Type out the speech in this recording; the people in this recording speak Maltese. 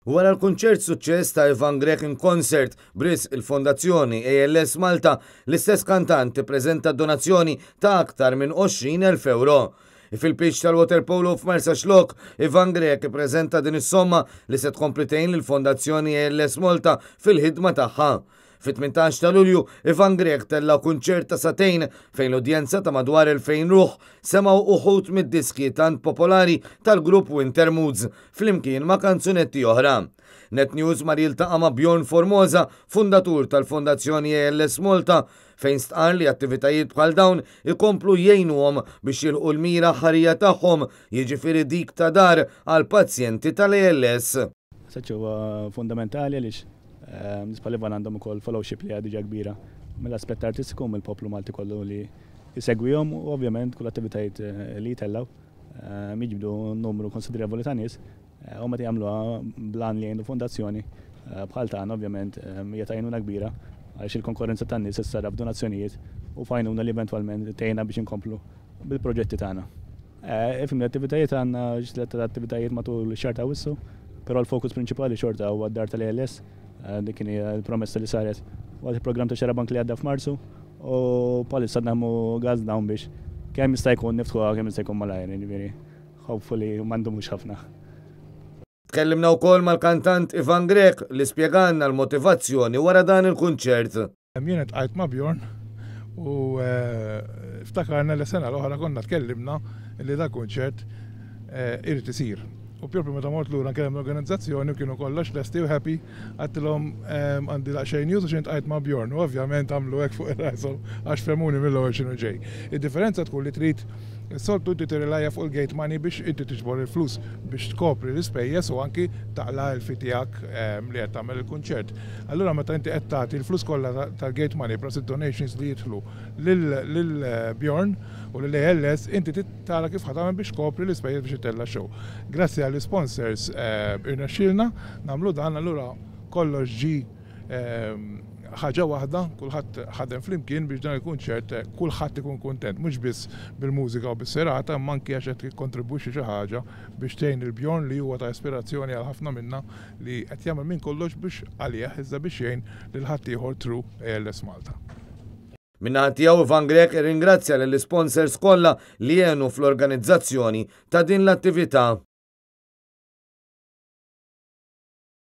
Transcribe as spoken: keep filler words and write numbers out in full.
Wara l-kunċert suċċess ta' Ivan Grech in Concert b'risq il-Fondazzjoni A L S Malta, l-istess kantant ippreżenta donazzjoni ta' aktar minn għoxrin elf euro. Fil-pitch tal-waterpolo f'Marsaxlokk, Ivan Grech ippreżenta din is-somma li se tkompli tgħin lill-Fondazzjoni A L S Malta fil-ħidma tagħha. Fit-tmintax ta' Lulju, Ivan Grech tella kunċert ta' sagħtejn fejn l-udjenza ta' madwar elfejn ruħ semgħu uħud mid-diski tant popolari tal-grupp Winter Moods flimkien ma' kanzunetti oħra. Net News mar jiltaqa' ma' Bjorn Formosa, fundatur tal-Fondazzjoni A L S Malta, fejn stqar li attivitajiet bħal dawn ikomplu jgħinuhom biex jilħqu l-mira ħarija tagħhom, jiġifieri dik ta' dar għal pazjenti tal-A L S. Saċ huwa fundamentali għaliex nies bħal Ivan għandhom ukoll followership li diġà kbira mill-aspett artistiku, mill-poplu Malti kollu li jsegwihom, u ovvjament kull attivitajiet eh, li jtellgħu jiġbdu numru konsiderevoli ta' nies eh, u meta jagħmluha bl-għan li jgħinu fondazzjoni eh, bħal tagħna, ovvjament hija t'għajnuna kbira għaliex il-konkurrenza tan-nies issarraf f'donazzjonijiet u f'għajnuna li eventwalment tgħinna biex inkomplu bil-proġetti tagħna. Ifhem, l-attivitajiet, għandna ġliet attivitajiet matul ix-xahar ta' Awwissu, però l-fokus prinċipali xorta huwa d-dar tal-A L S. Eh, dik kien il-promessa li saret waqt il-programm ta' Xarabank li għadda f'Marzu u bħalissa naħdmu gas down biex kemm jista' jkun niftħuha kemm jista' jkun malajr, jiġifieri hopefully m'għandhomux ħafna. Tkellimna wkoll mal-kantant Ivan Grech li spjegalna l-motivazzjoni wara dan il-kunċert. Jien iltqajt ma' Bjorn u eh, ftakarna li sena l-oħra konna tkellimna li da kunċert eh, irid isir. U propju meta mort lura nkellem l-organizzazzjoni u kienu kollox lesti u happy, għedtilhom għandi daqsxejn news u iltqajt ma' Bjorn u ovvjament għamlu hekk fuq ir-rashom għax fehmuni mill-ewwel x'inhu ġej. Id-differenza tkun li trid soltu inti tirrelajja fuq il-gate money biex inti tiġbor il-flus biex tkopri l-ispejjeż u anki taqla' l-fee tiegħek li qed tagħmel il-kunċert. Allura meta inti qed tagħti l-flus kollha tal-gate money plus id-donations li jidħlu lil Bjorn u lil A L S, inti tara kif ħa tagħmel biex tkopri l-ispejjeż biex itella' show. Grazzi għall-sponsors irnexxielna nagħmlu dan, allura kollox ġi ħaġa waħda, kulħadd ħadem flimkien biex dan il-kunċert kulħadd ikun kuntent, mhux biss bil-mużika u bis-serata, imma anki għax qed jikkontribwixxi xi ħaġa biex tgħin lil Bjorn li huwa ta' ispirazzjoni għal ħafna minna, li qed jagħmel minn kollox biex għalih iżda biex jgħin lil ħaddieħor through A L S Malta. Min-naħa tiegħu, Ivan Grech irringrazzja lill-sponsors kollha li għenu fl-organizzazzjoni ta' din l-attività.